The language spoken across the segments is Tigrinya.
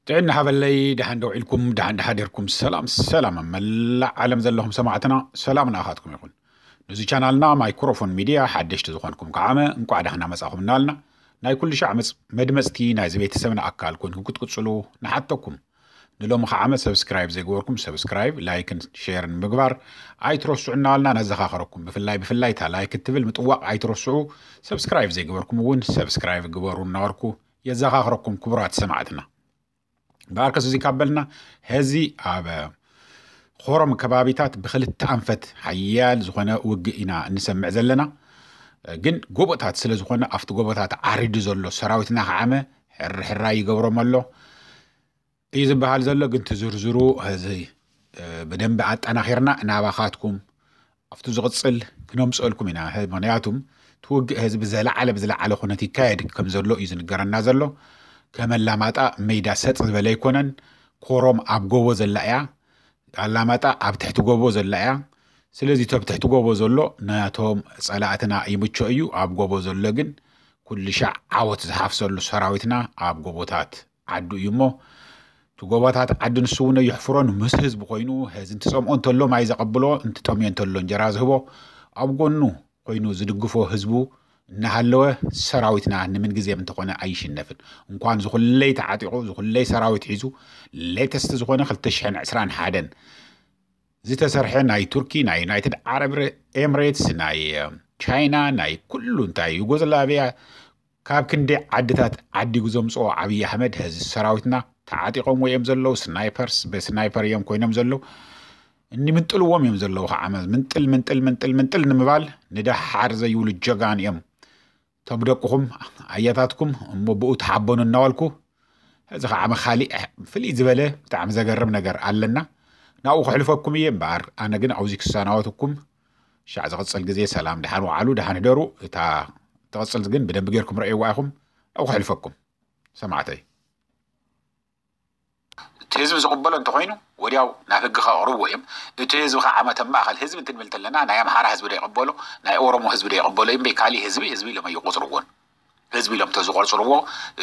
ጥዕና ሃበለይ፣ ደሓን ደው ኢልኩም፣ ደሓን ደሓዲርኩም። ሰላም ሰላም፣ ኣብ መላእ ዓለም ዘለኹም ሰማዕትና፣ ሰላም ንኣኻትኩም ይኹን። ነዚ ቻናልና ማይክሮፎን ሚድያ ሓደሽቲ ዝኾንኩም ከዓመ እንቋዕ ደሓና መጻኹም እናልና፣ ናይ ኩሉ ሻዕ መጽ-፣ መድመጽቲ ናይዚ ቤተሰብና ኣካል ኮንኩም ክትቅጽሉ ንሓተኩም። ንሎሚ ከዓመ ሰብስክራይብ ዘይገበርኩም ሰብስክራይብ፣ ላይክን ሼርን ምግባር ኣይትረስዑ እናበልና ነዘኻኽረኩም። ብፍላይ ብፍላይ እታ ላይክ እትብል ምጥዋቕ ኣይትረስዑ። ሰብስክራይብ ዘይገበርኩም እውን ሰብስክራይብ ግበሩ እናበልኩ የዘኻኽረኩም ክቡራት ሰማዕትና። ብኣርከስ እዚ ካብ በልና፣ ሕዚ ኣብ ኮረም ከባቢታት ብክልተ ኣንፈት ሓያል ዝኾነ ውግእ ኢና እንሰምዕ ዘለና። ግን ጎቦታት ስለ ዝኾነ፣ ኣብቲ ጎቦታት ዓሪዱ ዘሎ ሰራዊትና ከዓመ ሕርሕራይ ይገብሮም ኣሎ እዩ ዝበሃል ዘሎ። ግን ትዝርዝሩ ሕዚ፣ እ፣ ብደንቢ ኣጠናኺርና ናባኻትኩም ኣብቲ ዝቕጽል ክነምጽኣልኩም ኢና። ህ-፣ ምኽንያቱም እቲ ውግእ ሕዚ ብዘለዓለ፣ ብዝለዓለ ኩነት ይካየድ ከም ዘሎ እዩ ዝንገረና ዘሎ። ከም ኣላማጣ ሜዳ ሰጥ ዝበለ ኣይኮነን። ኮረም ኣብ ጎቦ ዘላ እያ። ኣላማጣ ኣብ ትሕቲ ጎቦ ዘላ እያ። ስለዚ፣ እቲ ኣብ ትሕቲ ጎቦ ዘሎ ናቶም ጸላእትና ይምቾ እዩ። ኣብ ጎቦ ዘሎ ግን ኩሉ ሻዕ ዓወት ዝሓፍሰሉ ሰራዊትና ኣብ ጎቦታት ዓዱ እዩ እሞ፣ እቲ ጎቦታት ዓዲ ንሱ እውን የሕፍሮን ምስ ህዝቢ ኮይኑ፣ ሕዚ እንትጸምኦ እንተሎ ማይ ዘቐብሎ፣ እንትጠምዮ እንተሎ እንጀራ ዝህቦ፣ ኣብ ጎኑ ኮይኑ ዝድግፎ ህዝቡ እናሃለወ፣ ሰራዊትና ንምንግዜም እንተኾነ ኣይሽነፍን። እንኳን ዝኹለይ ተዓጢቑ፣ ዝኹለይ ሰራዊት ሒዙ፣ ሌተስት ዝኾነ ክልተ ሽሕን ዕስራን ሓደን ዝተሰርሐ ናይ ቱርኪ፣ ናይ ዩናይትድ ዓረብ ኤምሬትስ፣ ናይ፣ እ፣ ቻይና፣ ናይ ኩሉ እንታይ ዩጎዝላቪያ፣ ካብ ክንደይ ዓድታት ዓዲጉ ዘምጽኦ ኣብይ ኣሕመድ፣ ሕዚ ሰራዊትና ተዓጢቖምዎ እዮም ዘለዉ። ስናይፐርስ፣ ብስናይፐር እዮም ኮይኖም ዘለዉ። እንምንጥልዎም እዮም ዘለዉ። ከዓ ምንጥል፣ ምንጥል፣ ምንጥል፣ ምንጥል ንምባል ንደሓር ዘይብሉ ጀጋን እዮም። እቶም ደቅኹም፣ ኣያታትኩም እሞ ብኡ ተሓበኑ እናበልኩ፣ ሕዚ ከዓ መኻሊእ ፍልይ ዝበለ ብጣዕሚ ዘገርም ነገር ኣለና። ናብኡ ከሕልፈኩም እየ እምበኣር፣ ኣነ ግን ኣብዚ ክሰናበትኩም፣ ሻዕ ዝቕጽል ግዜ ሰላም፣ ደሓን ወዓሉ፣ ደሓን ህደሩ። እታ ትቕጽል ግን ብደንቢ ጌርኩም ረእይዋ ኢኹም። ናብኡ ከሕልፈኩም ሰማዕተይ። እቲ ህዝቢ ዝቕበሎ እንተኾይኑ፣ ወዲያው ናብ ህጊ ከቕርብዎ እዮም። እቲ ህዝቢ ከዓ ዓመተ ማእኸል ህዝቢ እንትንብል እንተለና፣ ናይ ኣምሓራ ህዝቢ ዶ ይቕበሎ፣ ናይ ኦሮሞ ህዝቢ ዶ ይቕበሎ እምበይ፣ ካሊእ ህዝቢ፣ ህዝቢ ኢሎም ኣይቆጽርዎን። ህዝቢ ኢሎም እንተዝቆጽርዎ፣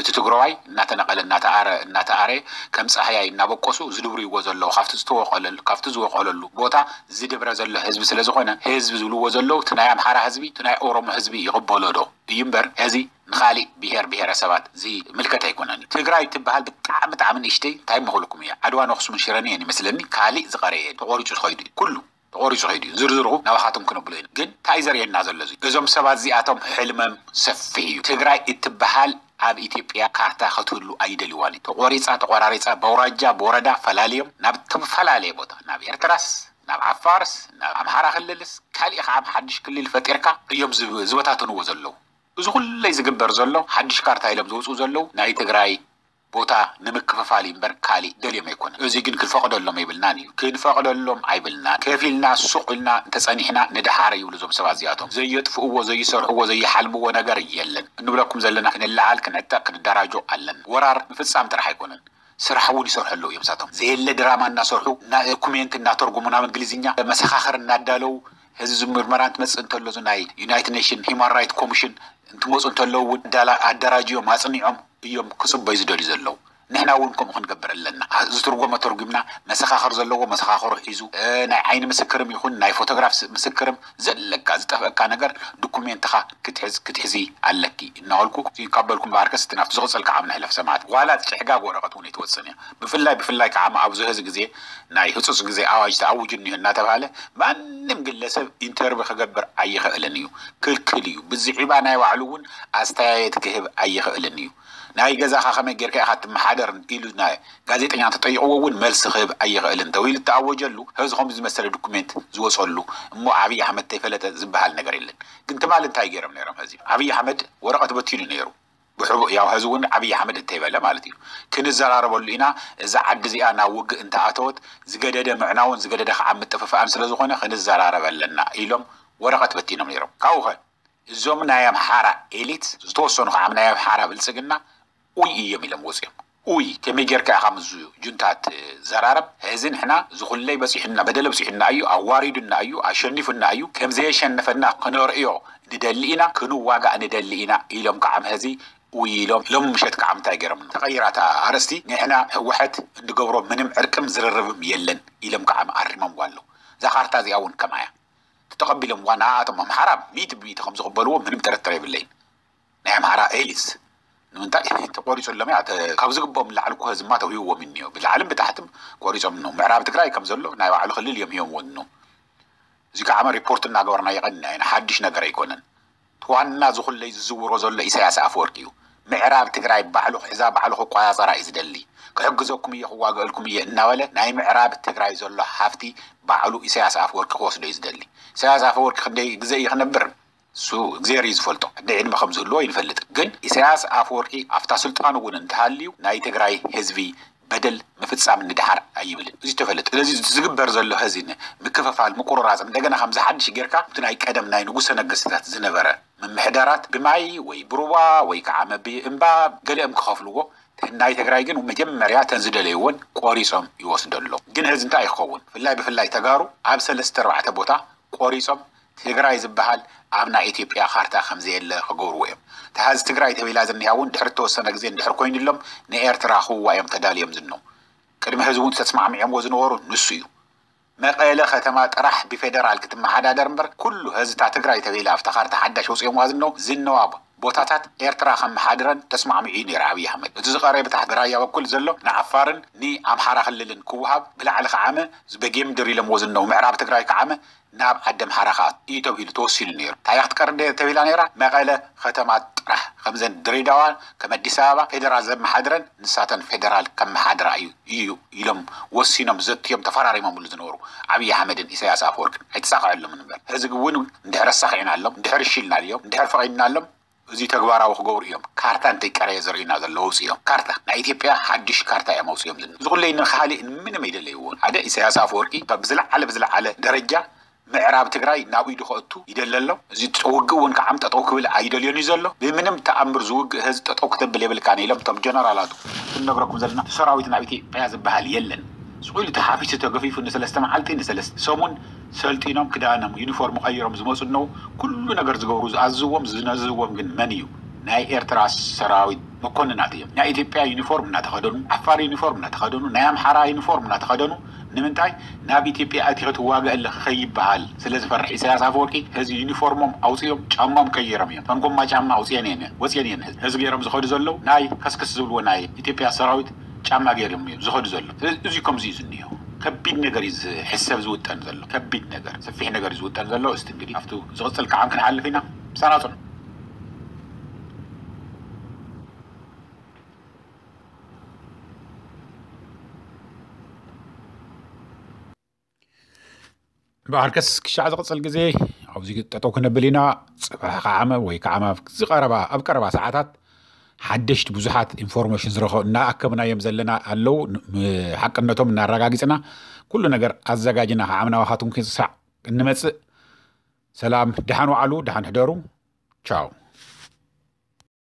እቲ ትግራዋይ እናተነቐለ፣ እናተኣረ፣ እናተኣረ፣ ከም ጻህያይ እናበቆሱ ዝድብርይዎ ዘለዉ፣ ካብቲ ዝተወቐለሉ፣ ካብቲ ዝወቐለሉ ቦታ ዝድብረ ዘሎ ህዝቢ ስለ ዝኾነ፣ ህዝቢ ዝብልዎ ዘለዉ፣ እቲ ናይ ኣምሓራ ህዝቢ፣ እቲ ናይ ኦሮሞ ህዝቢ ይቕበሎ ዶ እዩ እምበር፣ እዚ ንኻሊእ ብሄር ብሄረሰባት ዝምልከት ኣይኮነን እዩ። ትግራይ ትበሃል ብጣዕሚ፣ ብጣዕሚ ንእሽተይ፣ እንታይ መኽልኩም እያ? ዓድዋን ኣኽሱምን ሽረን እየን ይመስለኒ፣ ካሊእ ዝቐረየ የለን። ተቖሪጹ ተኸይዱ እዩ። ኩሉ ተቖሪጹ ከይዱ እዩ። ዝርዝሩ ናባኻትኩም ክነብሎ ኢና። ግን እንታይ እዩ ዘርእየና ዘሎ እዚ? እዞም ሰባት እዚኣቶም ሕልመም ሰፊሕ እዩ። ትግራይ እትበሃል ኣብ ኢትዮጵያ ካርታ ክትህሉ ኣይደልዋን እዩ። ተቖሪጻ፣ ተቖራሪጻ፣ በውራጃ፣ ብወረዳ ፈላልዮም ናብ ዝተፈላለየ ቦታ፣ ናብ ኤርትራስ፣ ናብ ዓፋርስ፣ ናብ ኣምሓራ ክልልስ፣ ካሊእ ከዓ ሓድሽ ክልል ፈጢርካ እዮም ዝብ-፣ ዝበታተንዎ ዘለዉ። እዚ ኩለይ ዝግበር ዘሎ ሓድሽ ካርታ ኢሎም ዝወፅኡ ዘለዉ ናይ ትግራይ ቦታ ንምክፍፋል እዩ እምበር ካሊእ ደልዮም ኣይኮነን። እዚ ግን ክንፈቕደሎም ኣይብልናን እዩ። ክንፈቕደሎም ኣይብልናን። ከፊልና ሱቕ ኢልና እንተፀኒሕና ንደሓር ይብሉ እዞም ሰባት እዚኣቶም። ዘየጥፍእዎ፣ ዘይሰርሕዎ፣ ዘይሓልምዎ ነገር የለን። እንብለኩም ዘለና ክንለዓል፣ ክንዕጠቕ፣ ክንደራጆ ኣለና። ወራር ምፍፃም ጥራሕ ኣይኮነን። ስራሕ እውን ይሰርሑ ኣለዉ እዮም እሳቶም። ዘየለ ድራማ እናሰርሑ፣ እና-፣ ኮሜንት እናተርጉሙ ናብ እንግሊዝኛ መሰኻኽር እናዳለዉ፣ ህዝቢ ምርመራ እንትመጽእ እንተሎ፣ እዚ ናይ ዩናይትድ ኔሽን ሂውማን ራይት ኮሚሽን እንትመጹ እንተለዉ እውን ኣዳላ-፣ ኣደራጅዮም ኣጽኒዖም እዮም ክጽበዩ ዝደልዩ ዘለዉ። ንሕና እውን ከምኡ ክንገብር ኣለና። ዝትርጎመ ተርጉምና፣ መሰኻኽር ዘለዎ መሰኻኽሩ ሒዙ፣ እ፣ ናይ ዓይኒ ምስክርም ይኹን ናይ ፎቶግራፍ ስ-፣ ምስክርም ዘለካ ዝጠፍአካ ነገር ዶኩሜንትኻ ክትሕዝ፣ ክትሕዚ ኣለኪ እናበልኩ ይቀበልኩም። በኣርከስ እቲ ናብቲ ዝቕጽል ከዓ ንሕለፍ ሰማዕት። ዋላ ጭሕጋግ ወረቐት እውን ኣይትወጽን እያ። ብፍላይ፣ ብፍላይ ከዓ ኣብዚ ሕዚ ግዜ ናይ ህጹጽ ግዜ ኣዋጅ ተኣዊጁ እኒሆ እናተባህለ ማንም ግለሰብ ኢንተርቪ ክገብር ኣይኽእልን እዩ። ክልክል እዩ። ብዝዒባ ናይ ባዕሉ እውን ኣስተያየት ክህብ ኣይኽእልን እዩ። ናይ ገዛኻ ከመይ ጌርካ ኢኻ ትመሓደር ኢሉ ናይ ጋዜጠኛ እንተጠይቕዎ እውን መልሲ ክህብ ኣይኽእልን ተባሂሉ እተኣወጀሉ፣ ሕዚ ከምዚ ዝመሰለ ዶኩሜንት ዝወጸሉ እሞ ኣብይ ኣሕመድ ተይፈለጠ ዝበሃል ነገር የለን። ግን ትማሊ እንታይ ገይሮም ነይሮም? ሕዚ ኣብይ ኣሕመድ ወረቐት በቲኑ ነይሩ። ብሕቡእ ያው ሕዚ እውን ኣብይ ኣሕመድ እንተይበለ ማለት እዩ። ክንዘራረበሉ ኢና፣ እዛ ዓዲ እዚኣ ናብ ውግእ እንተኣተወት ዝገደደ ምዕናውን ዝገደደ ከዓ ምጥፍፋእን ስለ ዝኾነ ክንዘራረብ ኣለና ኢሎም ወረቐት በቲኖም ነይሮም። ካብኡ ኸ እዞም ናይ ኣምሓራ ኤሊት ዝተወሰኑ ከዓ ናይ ኣምሓራ ብልጽግና ኡይ እዮም ኢሎም ወፂኦም። ኡይ ከመይ ጌርካ ኢኻ ምስ ጁንታ ትዘራረብ? ሕዚ ንሕና ዝኹለይ በፂሑና፣ በደለ በፂሑና እዩ፣ ኣዋሪዱና እዩ፣ ኣሸኒፉና እዩ፣ ከም ዘየሸነፈና ክነርእዮ ንደሊ ኢና፣ ክንዋጋእ ንደሊ ኢና ኢሎም ከዓ ሕዚ ውይ ኢሎም ሎም ምሸት ከዓ ምንታይ ገይሮም? ተቐይራታ ኣረስቲ፣ ንሕና ህወሓት እንድገብሮ ምንም ዕርቅም ዝርርብም የለን ኢሎም ከዓ ኣሪሞም ጓሎ። እዛ ካርታ እዚኣ እውን ከምኣያ ተተቐቢሎም ዋ ንኣቶም ኣምሓራ ሚእቲ ብሚእቲ ከም ዝቕበልዎ ምንም ጥርጥር የብለይን። ናይ ኣምሓራ ኤሊትስ ንምንታይ ተቆሪፁሎም እያ? ካብ ዝግብኦም ላዕሊ እኮ ህዝማ ተውሂዎም እኒዮ፣ ብላዕልን ብታሕትም ቆሪፆም ነው። ምዕራብ ትግራይ ከም ዘሎ ናይ ባዕሉ ክልል እዮም ሂቦምዎ ነው። እዚ ከዓ ሪፖርት እናገበርና የቐንና ኢና፣ ሓድሽ ነገር ኣይኮነን። ዋና ዝኹለይ ዝዝውሮ ዘሎ ኢሳያስ ኣፈወርቂ እዩ። ምዕራብ ትግራይ ባዕሉ ክሕዛ፣ ባዕሉ ክቆፃፀራ እዩ ዝደሊ። ክሕግዘኩም እየ፣ ክዋገእልኩም እየ እናበለ ናይ ምዕራብ ትግራይ ዘሎ ሃፍቲ ባዕሉ ኢሳያስ ኣፈወርቂ ክወስዶ እዩ ዝደሊ። ኢሳያስ ኣፈወርቂ ክንደይ ግዜ እዩ ክነብር? እሱ እግዚኣብሔር እዩ ዝፈልጦ። ክንደይ ዕድመ ከም ዝህልዎ ይንፈልጥ። ግን ኢሳያስ ኣፈወርቂ ኣብታ ስልጣኑ እውን እንተሃልዩ ናይ ትግራይ ህዝቢ በደል ምፍፃም ንድሓር ኣይብልን። እዚ ተፈለጥ። ስለዚ ዝግበር ዘሎ ሀዚ ምክፍፋል፣ ምቁርራፅ፣ እንደገና ከምዚ ሓድሽ ጌርካ እቲ ናይ ቀደም ናይ ንጉሰ ነገስትታት ዝነበረ ምምሕዳራት ብማይ ወይ ብሩባ ወይ ከዓ መቢ እምባ ገሊኦም ክኸፍልዎ፣ ናይ ትግራይ ግን መጀመርያ ተን ዝደለይዎን ቆሪፆም ይወስዶ ኣሎ። ግን ህዚ እንታይ ይኸውን? ብፍላይ ብፍላይ ተጋሩ ኣብ ሰለስተ ኣርባዕተ ቦታ ቆሪፆም ትግራይ ዝበሃል ኣብ ናይ ኢትዮጵያ ካርታ ከምዘየለ ክገብርዎ እዮም። ተሃዚ ትግራይ ተቢላ ዝኒሃ እውን ድሕሪ ተወሰነ ግዜ እንድሕር ኮይኑሎም ንኤርትራ ክውዋ እዮም ተዳልዮም ዝነው። ቅድሚ ህዚ እውን ተስማዕሚዖምዎ ዝነበሩ ንሱ እዩ። መቐለ ከተማ ጥራሕ ብፌደራል ክትመሓዳደር እምበር ኩሉ ህዝታ ትግራይ ተቢላ ኣብታ ካርታ ሓዳሽ ወፂኦምዋ ዝነው ዝነዋ ቦታታት ኤርትራ ከመሓድረን ተስማዕሚዑ እዩ ነይሩ ኣብይ ኣሕመድ። እቲ ዝቐረበ ብታሕቲ ራያ በኩል ዘሎ ንዓፋርን ንኣምሓራ ክልልን ክወሃብ ብላዕሊ ከዓመ በጌምድር ኢሎምዎ ዝነው ምዕራብ ትግራይ ከዓመ ናብ ዓዲ ኣምሓራ ከኣ እዩ ተባሂሉ ተወሲኑ ነይሩ። እንታይ እያ ክትቀርብ ተባሂላ ነይራ? መቐለ ከተማ ጥራሕ ከምዘን ድሬዳዋ ከም ኣዲስ ኣበባ ፌደራል ዘመሓድረን ንሳተን ፌደራል ከመሓድራ እዩ እዩ ኢሎም ወሲኖም ዘትዮም ተፈራሪሞምሉ ዝነበሩ ኣብይ ኣሕመድን ኢሳያስ ኣፈወርቅን ኣይተሳኽዐሎምን እምበር። ህዝቢ እውን እንድሕር ኣሳኺዕናሎም፣ እንድሕር እሺ ኢልናዮም፣ እንድሕር ፈቒድናሎም እዚ ተግባራዊ ክገብሩ እዮም። ካርታ እንተይቀረየ ዘርእዩና ዘለዉ ውፅኦም ካርታ ናይ ኢትዮጵያ ሓድሽ ካርታ እዮም ኣውፅኦም ዝን እዚ ኩለይ ንካሊእ ምንም ኣይደለይዎ። ሓደ ኢሳያስ ኣፈወርቂ ብዝለዓለ ብዝለዓለ ደረጃ ምዕራብ ትግራይ ናብ ኢዱ ከእቱ ይደሊ ኣሎ። እዚ ውግእ እውን ከዓም ጠጠው ክብል ኣይደልዮን እዩ ዘሎ። ብምንም ተኣምር ዝውግእ ህዝቢ ጠጠው ክተብል የብልካን ኢሎም እቶም ጀነራላቱ ክንነግረኩም ዘለና እቲ ሰራዊት ናብ ኢትዮጵያ ዝበሃል የለን። ስቑ ኢሉ ተሓፊሱ ተገፊፉ ንሰለስተ መዓልቲ ንሰለስተ ሰሙን ሰልጢኖም ክዳኖም ዩኒፎርም ቀይሮም ዝመፁ እነው ኩሉ ነገር ዝገብሩ ዝኣዝዎም ዝነዝዎም ግን መን እዩ? ናይ ኤርትራ ሰራዊት መኮንናት እዮም። ናይ ኢትዮጵያ ዩኒፎርም እናተኸደኑ፣ ዓፋር ዩኒፎርም እናተኸደኑ፣ ናይ ኣምሓራ ዩኒፎርም እናተኸደኑ ንምንታይ ናብ ኢትዮጵያ ኣቲኸ ትዋገእ ኣለኺ ከይበሃል ስለ ዝፈርሕ ኢሳያስ ኣፈወርቂ ህዚ ዩኒፎርሞም ኣውፅኦም ጫማም ቀይሮም እዮም። ተን ጎማ ጫማ ኣውፅአን እየን ወፅአን እየን ህዚ ገይሮም ዝኸዱ ዘለዉ ናይ ከስከስ ዝብልዎ ናይ ኢትዮጵያ ሰራዊት ጫማ ገይሮም እዮም ዝኸዱ ዘለዉ። ስለዚ እዚ ከምዚ እዩ ዝኒሆ። ከቢድ ነገር እዩ ዝሕሰብ ዝውጠን ዘሎ። ከቢድ ነገር፣ ሰፊሕ ነገር እዩ ዝውጠን ዘሎ። እስቲ እንግዲህ ኣብቱ ዝቕፅል ከዓ ክንሓልፍ ኢና። ምሳና ፅኑ። ብኣርከስ ክሻዕ ዝቕፅል ግዜ ኣብዚ ጠጠው ክነብል ኢና። ፅባሕ ከዓመ ወይ ከዓመ ዝቐረባ ኣብ ቀረባ ሰዓታት ሓደሽቲ ብዙሓት ኢንፎርሜሽን ዝረኸ እናኣከብናዮም ዘለና ኣለዉ። ሓቅነቶም እናረጋጊፅና ኩሉ ነገር ኣዘጋጅና ከዓምናዋኻትኩም ክሳዕ እንመፅእ ሰላም፣ ደሓን ዋዕሉ፣ ደሓን ሕደሩ። ቻው።